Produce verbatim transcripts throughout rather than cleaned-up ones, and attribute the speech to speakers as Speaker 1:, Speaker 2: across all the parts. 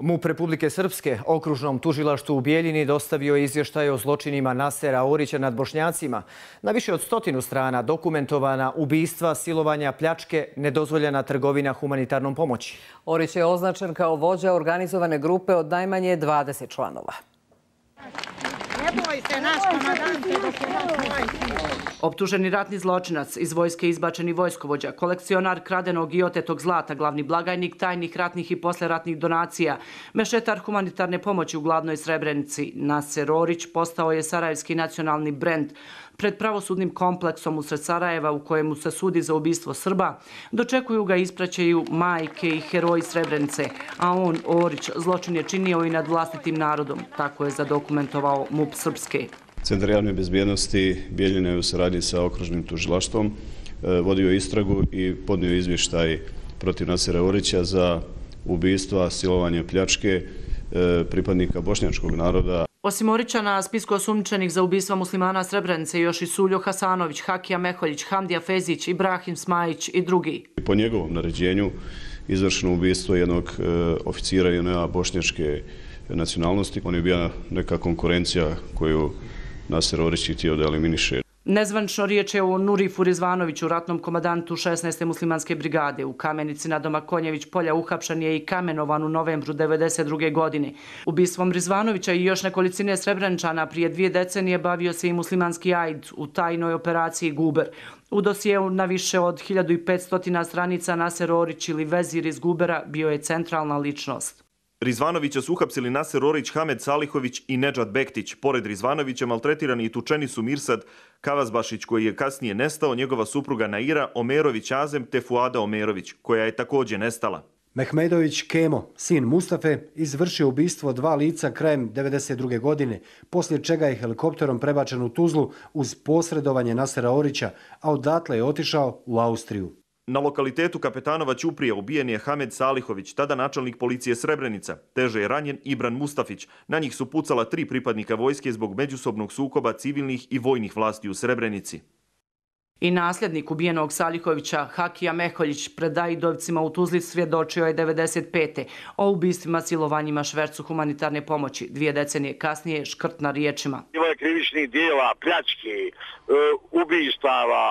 Speaker 1: MUP Republike Srpske okružnom tužilaštvu u Bijeljini dostavio je izvještaj o zločinima Nasera Orića nad Bošnjacima. Na više od stotinu strana dokumentovana ubistva, silovanja, pljačke, nedozvoljena trgovina humanitarnom pomoći.
Speaker 2: Orić je označen kao vođa organizovane grupe od najmanje dvadeset članova.
Speaker 3: Optuženi ratni zločinac, iz vojske izbačeni vojskovođa, kolekcionar kradenog i otetog zlata, glavni blagajnik tajnih ratnih i posleratnih donacija, mešetar humanitarne pomoći u gladnoj Srebrenici, Naser Orić postao je sarajevski nacionalni brend pred pravosudnim kompleksom usred Sarajeva u kojemu se sudi za ubistvo Srba. Dočekuju ga i ispraćaju majke i heroji Srebrenice, a on, Orić, zločin je činio i nad vlastitim narodom. Tako je zadokumentovao MUP Srpske.
Speaker 4: Centar javne bezbjednosti Bijeljine je u saradnji sa okružnim tužilaštvom vodio istragu i podnio izvještaj protiv Nasera Orića za ubistva, silovanje, pljačke pripadnika bošnjačkog naroda.
Speaker 3: Osim Orića na spisku osumnjičenih za ubistva muslimana Srebrenice još i Suljo Hasanović, Hakija Meholjić, Hamdija Fezić, Ibrahim Smajić i drugi.
Speaker 4: Po njegovom naređenju izvršeno ubistvo jednog oficira J N A bošnjačke nacionalnosti. On je bila neka konkurencija koju Naser Orić je htio da eliminiše.
Speaker 3: Nezvančno riječ je o Nurifu Rizvanoviću, ratnom komandantu šesnaeste muslimanske brigade. U Kamenici na doma Konjević polja uhapšen je i kamenovan u novembru devedeset druge. godine. Ubistvom Rizvanovića i još nekolicine Srebreničana prije dvije decenije bavio se i muslimanski Ajd u tajnoj operaciji Guber. U dosijeu na više od hiljadu petsto stranica Naser Orić ili vezir iz Gubera bio je centralna ličnost.
Speaker 5: Rizvanovića su uhapsili Naser Orić, Hamed Salihović i Nedžad Bektić. Pored Rizvanovića maltretirani i tučeni su Mirsad Kavazbašić, koji je kasnije nestao, njegova supruga Naira, Omerović Azem te Fuada Omerović, koja je također nestala.
Speaker 6: Mehmedović Kemo, sin Mustafe, izvršio ubistvo dva lica krajem devedeset druge. godine, poslije čega je helikopterom prebačen u Tuzlu uz posredovanje Nasera Orića, a odatle je otišao u Austriju.
Speaker 5: Na lokalitetu Kapetanova Ćuprija ubijen je Hamed Salihović, tada načelnik policije Srebrenica. Teže je ranjen Ibran Mustafić. Na njih su pucala tri pripadnika vojske zbog međusobnog sukoba civilnih i vojnih vlasti u Srebrenici.
Speaker 3: I nasljednik ubijenog Salihovića, Hakija Meholjić, pred Ajdovcima u Tuzli svjedočio je devedeset pete. o ubistvima, silovanjima, švercu humanitarne pomoći. Dvije decenije kasnije škrt na riječima.
Speaker 7: Bilo je krivičnih dijela, pljački, ubistava,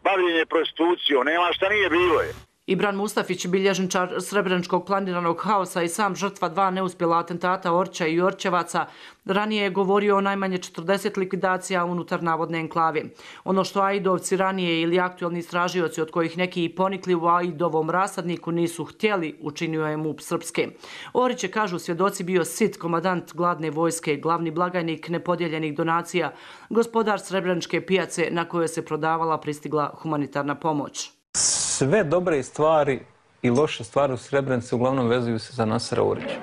Speaker 7: bavljenje prostitucijom, nema šta nije bilo je.
Speaker 3: Ibran Mustafić, bilježničar srebreničkog planiranog haosa i sam žrtva dva neuspjela atentata Orića i Orćevaca, ranije je govorio o najmanje četrdeset likvidacija unutar navodne enklave. Ono što Ajdovci ranije ili aktualni istražioci, od kojih neki i ponikli u Ajdovom rasadniku, nisu htjeli, učinio je MUP Srpske. Orić je, kažu svjedoci, bio sit, komandant gladne vojske, glavni blagajnik nepodijeljenih donacija, gospodar srebreničke pijace na kojoj se prodavala pristigla humanitarna pomoć.
Speaker 8: Sve dobre stvari i loše stvari u Srebrenici uglavnom vezuju se za Nasera Orića.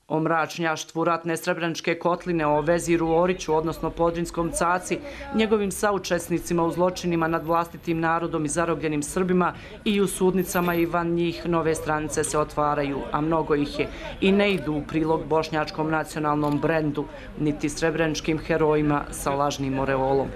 Speaker 3: O mračnjaštvu ratne Srebreničke kotline, o veziru Oriću, odnosno Podrinskom caci, njegovim saučesnicima u zločinima nad vlastitim narodom i zarobljenim Srbima i u sudnicama i van njih nove stranice se otvaraju, a mnogo ih je, i ne idu u prilog bošnjačkom nacionalnom brendu, niti srebreničkim herojima sa lažnim oreolom.